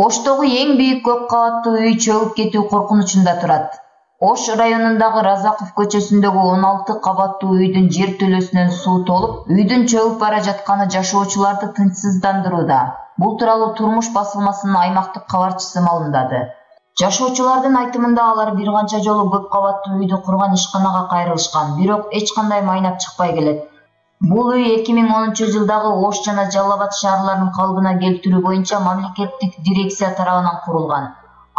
Оштогу эң бийик көп кабаттуу үй чөгүп кетүү коркунучунда турат. Ош районундагы Разаков көчөсүндөгү 16 кабаттуу үйдүн жер төлөсүнөн суу толуп, үйдүн чөгүп бара жатканы жашоочуларды тынчсыздандырууда. Бул тууралуу Турмуш басылмасынын аймактык кабарчысы маалымдады. Жашоочулардын айтымында алар бир канча жолу көп кабаттуу үйдү курган ишканага кайрылышкан, бирок эч кандай майнап чыкпай келет. Бул үй 2010-жылдагы Ош жана Жалал Абад шаарларынын калыбына келтирүү боюнча мамлекеттик дирекция тарабынан курулган.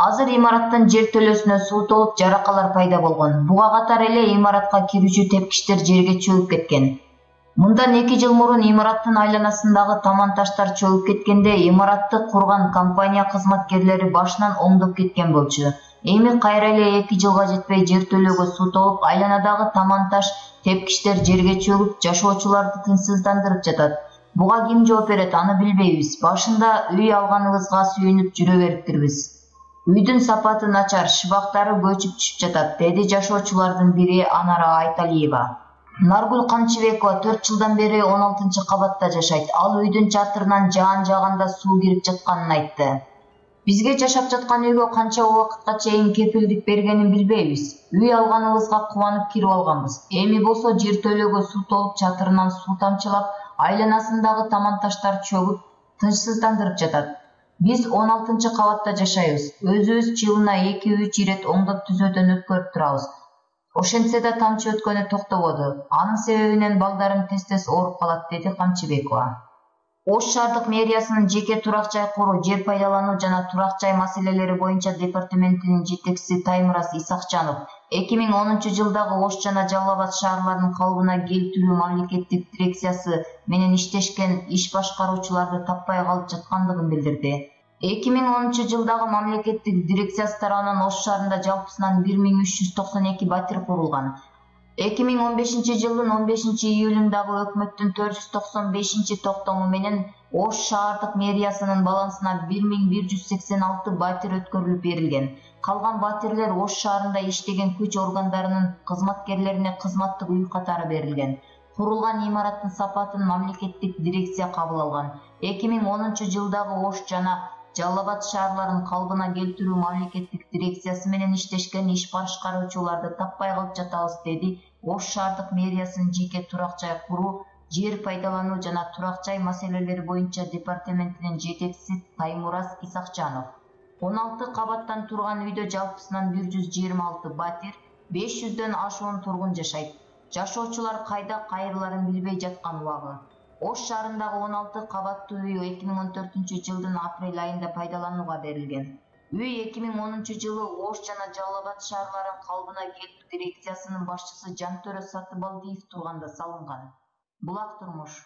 Азыр имараттын жер төлөсүнө суу толуп, жаракалар пайда болгон. Буга катар эле имаратка кирүүчү тепкичтер жерге чөгүп кеткен. Мындан 2 жыл мурун имараттын айланасындагы таман таштар чөгүп кеткенде имаратты курган компания кызматкерлери башынан оңдоп кеткен болчу. Эми кайра эле 2 жылга жетпей жер төлөөгө суу толуп, айланадагы таман таш тепкичтер жерге чөгүп, жашоочуларды тынчсыздандырып жатат. Буга ким жооп берет, аны билбейбиз. Башында үй алганыбызга сүйүнүп жүрө бериптирбиз. Үйдүн сапаты начар, шыбактары көчүп түшүп жатат, деди жашоочулардын бири Анара Айталиева. Наргүл Камчыбекова 4 жылдан бери 16-кабатта жашайт. Ал үйдүн чатырынан жаан жааганда суу кирип жатканын айтты. Бизге жашап жаткан үйгө канча убакытка чейин кепилдик бергенин билбейбиз. Үй алганыбызга кубанып кирип алганбыз. Эми болсо жер төлөөгө суу толуп, чатырынан суу тамчылап, айланасындагы таман таштар чөгүп, тынчсыздандырып жатат. Биз 16-кабатта жашайбыз. Өзүбүз жылына 2-3 ирет оңдоп түзөөдөн өткөрүп турабыз. Ошентсе да тамчы өткөнү токтободу. Анын себебинен балдарым тез-тез ооруп калат, деди Камчыбекова. Ош шаардык мэриясынын жеке турак жай куруу, жер пайдалануу жана турак жай маселелери боюнча департаментинин жетекчиси Таймураз Исакчанов 2010-жылдагы Ош жана Жалал Абад шаарларынын калыбына келтирүү мамлекеттик дирекциясы менен иштешкен иш башкаруучуларды таппай калып жаткандыгын билдирди. 2010-жылдагы мамлекеттик дирекциясы тарабынан Ош шаарында жалпысынан 1392 батир курулган. 2015-жылдын 15-июлундагы өкмөттүн 495 токтому менен Ош шаардык мэриясынын балансына 1186 батир өткөрүлүп берилген. Калган батирлер Ош шаарында иштеген күч органдарынын кызматкерлерине кызматтык үй катары берилген. Курулган имараттын сапатын мамлекеттик дирекция кабыл алган. 2010-жылдагы Ош жана Жалал Абад шаарларынын калыбына келтирүү мамлекеттик дирекциясы менен иштешкен иш башкаруучуларды таппай калып жатабыз, деди Ош шаардык мэриясынын жеке турак жай куруу, жер пайдалануу жана турак жай маселелери боюнча департаментинин жетекчиси Таймураз Исакчанов. 16 кабаттан турган үйдө жалпысынан 126 батир, 500дөн ашуун тургун жашайт. Жашоочулар кайда кайрыларын билбей жаткан убагы. Ош шаарындагы 16 кабаттуу үй 2014-жылдын апрель айында пайдаланууга берилген. Үй 2010-жылы Ош жана Жалал Абад шаарларынын калыбына келтирүү дирекциясынын башчысы Жантөрө Сатыбалдиев турганда салынган. Булак Турмуш.